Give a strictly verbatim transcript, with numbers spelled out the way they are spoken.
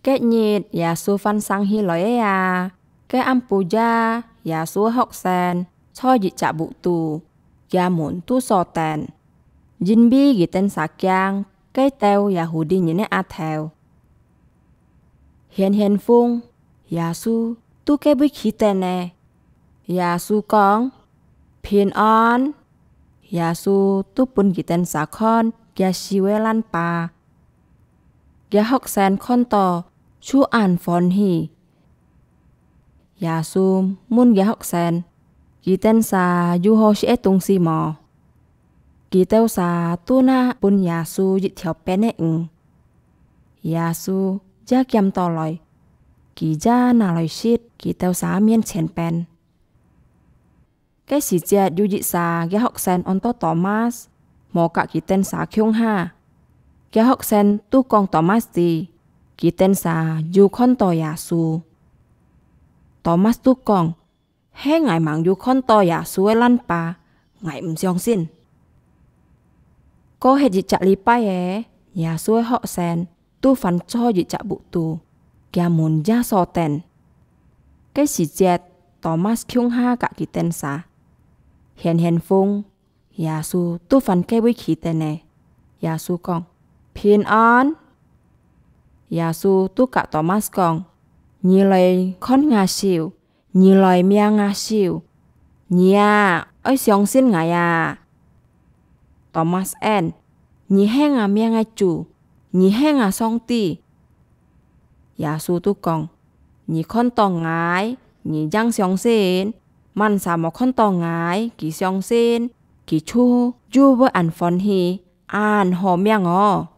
該日，耶穌翻生起來仔啊，該暗晡夜，耶穌个學生在一隻屋肚，厥門都鎖等，因為佢等儕驚該兜Yahudi人个額頭。顯現風，耶穌在該位企等呢。耶穌講：「平安！」耶穌在分佢等儕看厥手个爛疤。厥學生看著，就恁歡喜。耶穌問厥學生：「佢等儕有好食个東西無？」佢兜儕都拿分耶穌一條餅个魚。耶穌也撿倒來，佢也拿來食佢兜儕面前餅。該時節有一儕厥學生安到Thomas，無佮佢等儕共下。厥學生都講Thomas知，佢等儕有看著耶穌。Thomas都講：「係𠊎吂有看著耶穌个爛疤，𠊎毋相信。」過忒一隻禮拜仔，耶穌个學生都翻在一隻屋肚，厥門也鎖等。該時節，Thomas共下佮佢等儕。顯現風，耶穌在翻該位企等呢。耶穌講：「平安！」耶穌在佮Thomas講：「你來看吾手，你來摸吾手，你啊，愛相信𠊎啊！」Thomas應：「你係吾命个主，你係吾上帝！」耶穌都講：「你看著𠊎，你正相信；麼儕無看著𠊎，佢相信，佢就有會恁歡喜，恁好命哦！」